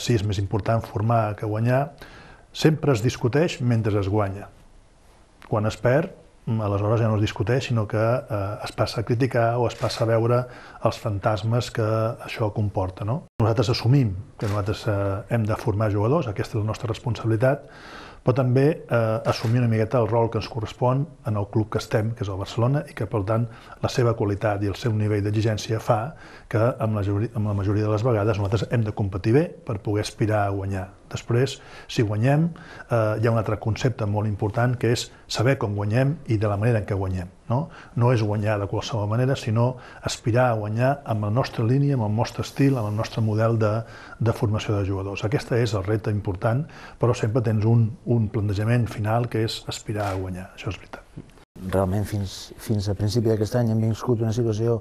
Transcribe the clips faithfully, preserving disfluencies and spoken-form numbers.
si és més important formar que guanyar, sempre es discuteix mentre es guanya. Quan es perd, aleshores ja no es discuteix, sinó que eh, es passa a criticar o es passa a veure els fantasmes que això comporta. No? Nosaltres assumim que nosaltres eh, hem de formar jugadors, aquesta és la nostra responsabilitat, però també eh, assumir una miqueta el rol que ens correspon en el club que estem, que és el Barcelona, i que, per tant, la seva qualitat i el seu nivell d'exigència fa que, amb la, amb la majoria de les vegades, nosaltres hem de competir bé per poder aspirar a guanyar. Després, si guanyem, eh, hi ha un altre concepte molt important, que és saber com guanyem i de la manera en què guanyem. No, no és guanyar de qualsevol manera, sinó aspirar a guanyar amb la nostra línia, amb el nostre estil, amb el nostre model de, de formació de jugadors. Aquest és el repte important, però sempre tens un, un plantejament final que és aspirar a guanyar, això és veritat. Realment, fins, fins a principi d'aquest any hem viscut una situació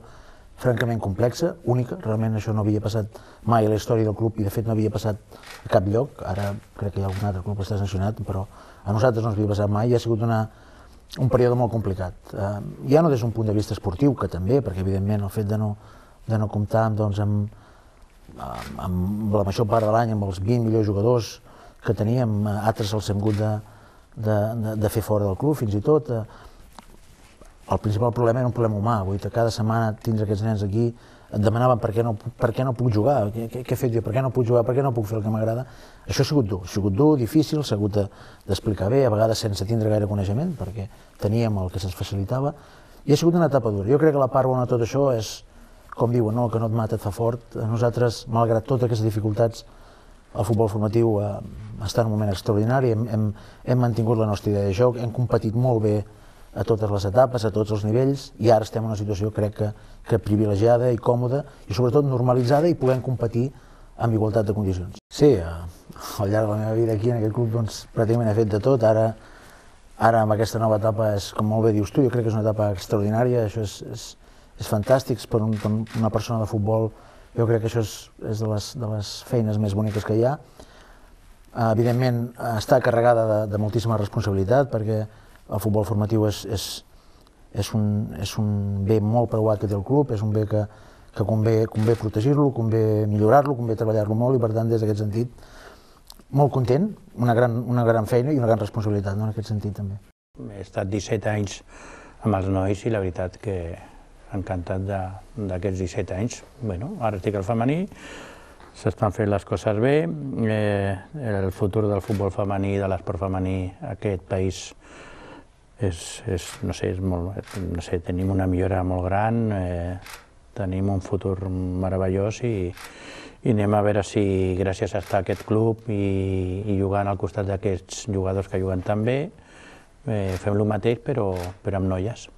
francament complexa, única, realment això no havia passat mai a la història del club i de fet no havia passat a cap lloc, ara crec que hi ha algun altre club que està sancionat, però a nosaltres no ens havia passat mai i ha sigut una, un període molt complicat. Eh, ja no des d'un punt de vista esportiu, que també, perquè evidentment el fet de no, de no comptar doncs, amb, amb, amb la major part de l'any, amb els vint millors jugadors que teníem, altres els hem hagut de, de, de, de fer fora del club fins i tot. Eh, el principal problema era un problema humà, vull dir, cada setmana tindre aquests nens aquí, et demanaven per què no, per què no puc jugar, què, què he fet jo, per què no puc jugar, per què no puc fer el que m'agrada. Això ha sigut dur, ha sigut dur, difícil, s'ha hagut d'explicar bé, a vegades sense tindre gaire coneixement, perquè teníem el que se'ns facilitava, i ha sigut una etapa dura. Jo crec que la part bona de tot això és, com diuen, no? El que no et mata et fa fort. Nosaltres, malgrat totes aquestes dificultats, el futbol formatiu eh, està en un moment extraordinari, hem, hem, hem mantingut la nostra idea de joc, hem competit molt bé a totes les etapes, a tots els nivells, i ara estem en una situació, crec que, que privilegiada i còmoda, i sobretot normalitzada, i podem competir amb igualtat de condicions. Sí, al llarg de la meva vida aquí en aquest club doncs, pràcticament he fet de tot. Ara, ara amb aquesta nova etapa, és, com molt bé dius tu, jo crec que és una etapa extraordinària, això és, és, és fantàstic per, un, per una persona de futbol, jo crec que això és, és de, les, de les feines més boniques que hi ha. Evidentment, està carregada de, de moltíssima responsabilitat, perquè el futbol formatiu és, és, és, un, és un bé molt preuat que té el club, és un bé que, que convé, convé protegir-lo, convé millorar-lo, convé treballar-lo molt, i per tant, des d'aquest sentit, molt content, una gran, una gran feina i una gran responsabilitat, no? En aquest sentit també. He estat disset anys amb els nois i la veritat que encantat d'aquests disset anys. Bueno, ara estic al femení, s'estan fent les coses bé, eh, el futur del futbol femení, de l'esport femení, aquest país és, és, no sé, és molt, no sé, tenim una millora molt gran, eh, tenim un futur meravellós i, i anem a veure si gràcies a estar a aquest club i, i jugant al costat d'aquests jugadors que juguen tan bé, eh, fem el mateix però, però amb noies.